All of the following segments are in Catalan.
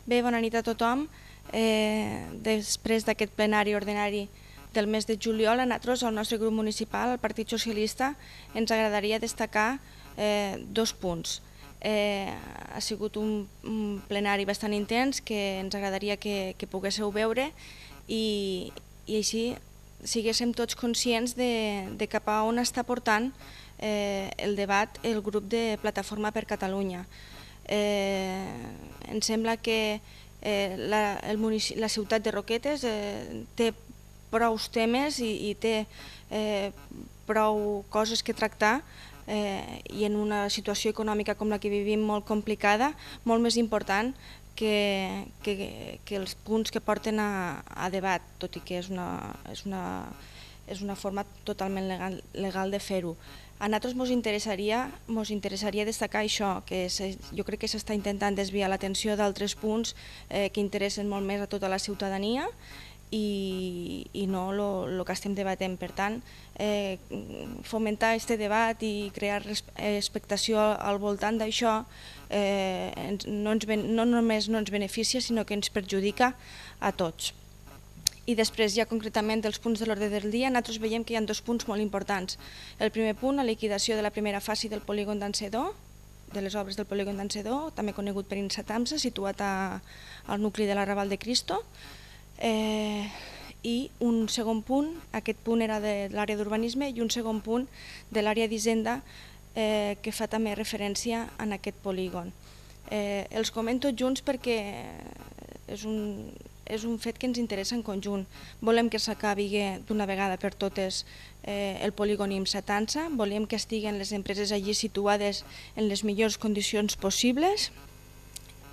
Bé, bona nit a tothom. Després d'aquest plenari ordinari del mes de juliol, a nosaltres, al nostre grup municipal, el Partit Socialista, ens agradaria destacar dos punts. Ha sigut un plenari bastant intens que ens agradaria que poguéssiu veure i així siguéssim tots conscients de cap a on està portant el debat el grup de Plataforma per Catalunya. Em sembla que la ciutat de Roquetes té prou temes i té prou coses que tractar i en una situació econòmica com la que vivim molt complicada, molt més important que els punts que porten a debat, tot i que és una forma totalment legal de fer-ho. A nosaltres ens interessaria destacar això, que jo crec que s'està intentant desviar l'atenció d'altres punts que interessen molt més a tota la ciutadania i no el que estem debatent. Per tant, fomentar aquest debat i crear expectació al voltant d'això no només no ens beneficia, sinó que ens perjudica a tots. I després, ja concretament dels punts de l'ordre del dia, nosaltres veiem que hi ha dos punts molt importants. El primer punt, la liquidació de la primera fase del polígon d'Encedó, de les obres del polígon d'Encedó, també conegut per Insatamsa, situat al nucli de l'Arrabal de Cristo. I un segon punt, aquest punt era de l'àrea d'urbanisme, i un segon punt de l'àrea d'Hisenda que fa també referència a aquest polígon. Els comento junts perquè és un fet que ens interessa en conjunt. Volem que s'acabi d'una vegada per totes el polígon Insatamsa, volem que estiguen les empreses allí situades en les millors condicions possibles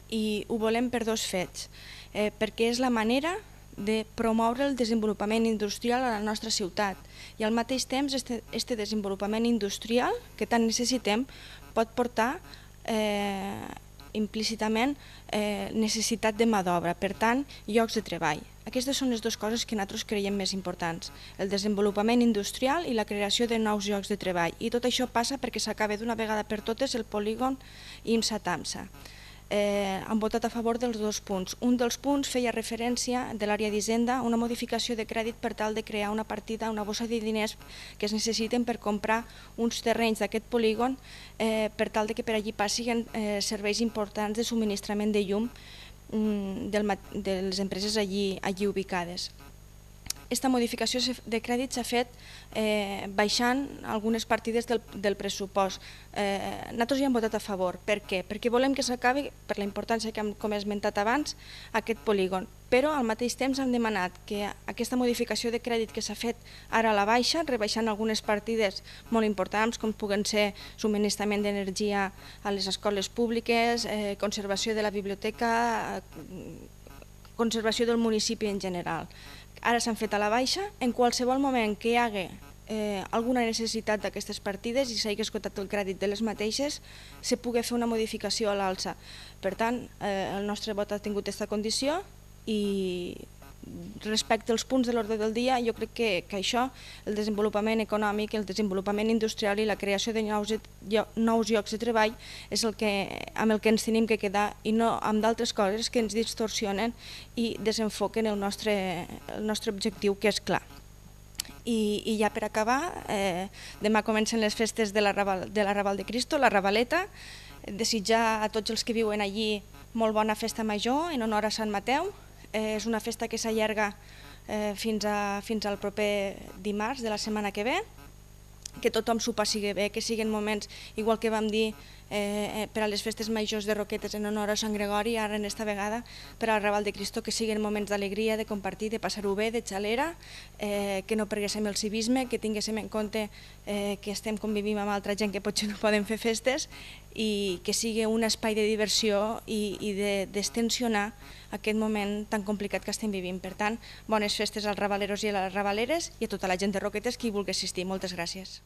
i ho volem per dos fets, perquè és la manera de promoure el desenvolupament industrial a la nostra ciutat i al mateix temps aquest desenvolupament industrial que tant necessitem pot portar implícitament necessitat de mà d'obra, per tant, llocs de treball. Aquestes són les dues coses que nosaltres creiem més importants, el desenvolupament industrial i la creació de nous llocs de treball. I tot això passa perquè s'acabi d'una vegada per totes el polígon Insatamsa. Han votat a favor dels dos punts. Un dels punts feia referència de l'àrea d'Hisenda a una modificació de crèdit per tal de crear una partida, una bossa de diners que es necessiten per comprar uns terrenys d'aquest polígon per tal que per allí passin serveis importants de subministrament de llum de les empreses allí ubicades. Aquesta modificació de crèdit s'ha fet baixant algunes partides del pressupost. Nosaltres hi hem votat a favor. Per què? Perquè volem que s'acabi, per la importància que com he esmentat abans, aquest polígon. Però al mateix temps hem demanat que aquesta modificació de crèdit que s'ha fet ara a la baixa, rebaixant algunes partides molt importants com puguen ser subministrament d'energia a les escoles públiques, conservació de la biblioteca, conservació del municipi en general. Ara s'han fet a la baixa, en qualsevol moment que hi hagi alguna necessitat d'aquestes partides i s'hagi esgotat el crèdit de les mateixes, se pugui fer una modificació a l'alça. Per tant, el nostre vot ha tingut aquesta condició i respecte als punts de l'ordre del dia, jo crec que això, el desenvolupament econòmic, el desenvolupament industrial i la creació de nous llocs de treball és amb el que ens tenim que quedar i no amb d'altres coses que ens distorsionen i desenfoquen el nostre objectiu, que és clar. I ja per acabar, demà comencen les festes de l'Arrabal de Cristo, la Rabaleta. Desitjar a tots els que viuen allí molt bona festa major en honor a Sant Mateu. És una festa que s'allarga fins al proper dimarts de la setmana que ve, que tothom s'ho passi bé, que siguin moments, igual que vam dir per a les festes majors de Roquetes en honor a Sant Gregori, ara en esta vegada per al Raval de Cristo, que siguin moments d'alegria, de compartir, de passar-ho bé, de xalera, que no perguéssim el civisme, que tinguéssim en compte que estem convivint amb altra gent que potser no poden fer festes i que sigui un espai de diversió i de destensionar aquest moment tan complicat que estem vivint. Per tant, bones festes als rabaleros i a les rabaleres i a tota la gent de Roquetes que hi vulgui assistir. Moltes gràcies.